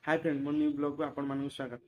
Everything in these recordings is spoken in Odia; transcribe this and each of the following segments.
ହାଇ ଫ୍ରେଣ୍ଡ, ମୋ ନ୍ୟୁ ବ୍ଲଗ୍କୁ ଆପଣମାନଙ୍କୁ ସ୍ୱାଗତ।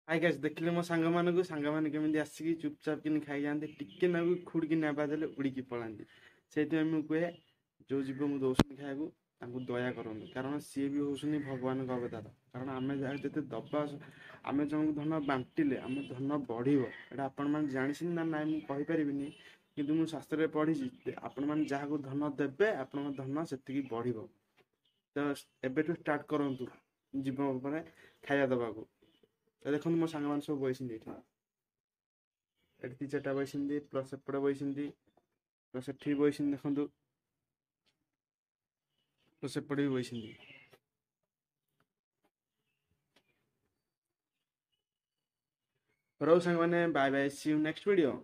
ହାଇ ଗାଇସ୍, ଦେଖିଲେ ମୋ ସାଙ୍ଗମାନଙ୍କୁ, ସାଙ୍ଗମାନେ କେମିତି ଆସିକି ଚୁପଚାପ କିନି ଖାଇଯାଆନ୍ତି, ଟିକେ ନାକୁ ଖୁଡ଼ିକି ନେବା ଦେଲେ ଉଡ଼ିକି ପଳାନ୍ତି। ସେଇଥିପାଇଁ ମୁଁ କୁହେ, ଯେଉଁ ଜୀବଙ୍କୁ ଦେଉଛନ୍ତି ଖାଇବାକୁ ତାଙ୍କୁ ଦୟା କରନ୍ତୁ, କାରଣ ସିଏ ବି ହେଉଛନ୍ତି ଭଗବାନଙ୍କ ଅବତାର। କାରଣ ଆମେ ଯାହା ଯେତେ ଦେବା, ଆମେ ଜଣଙ୍କୁ ଧନ ବାଣ୍ଟିଲେ ଆମ ଧନ ବଢ଼ିବ। ଏଇଟା ଆପଣମାନେ ଜାଣିଛନ୍ତି ନା ନାଇଁ ମୁଁ କହିପାରିବିନି, କିନ୍ତୁ ମୁଁ ଶାସ୍ତ୍ରରେ ପଢ଼ିଛି, ଆପଣମାନେ ଯାହାକୁ ଧନ ଦେବେ ଆପଣଙ୍କ ଧନ ସେତିକି ବଢ଼ିବ। ତ ଏବେଠୁ ଷ୍ଟାର୍ଟ କରନ୍ତୁ ଜୀବ ଉପରେ ଖାଇବା ଦେବାକୁ। ତ ଦେଖନ୍ତୁ, ମୋ ସାଙ୍ଗମାନେ ସବୁ ବଇଛନ୍ତି ଏଇଠି। ଏଠି 2 4ଟା ବଇଛନ୍ତି, ପ୍ଲସ୍ ଏପଟେ ବଇଛନ୍ତି, ପ୍ଲସ୍ ଏଠି ବି ବଇଛନ୍ତି, ଦେଖନ୍ତୁ, ପ୍ଲସ୍ ଏପଟେ ବି ବଇଛନ୍ତି। ରହୁ ସାଙ୍ଗମାନେ, bye bye, see you next video.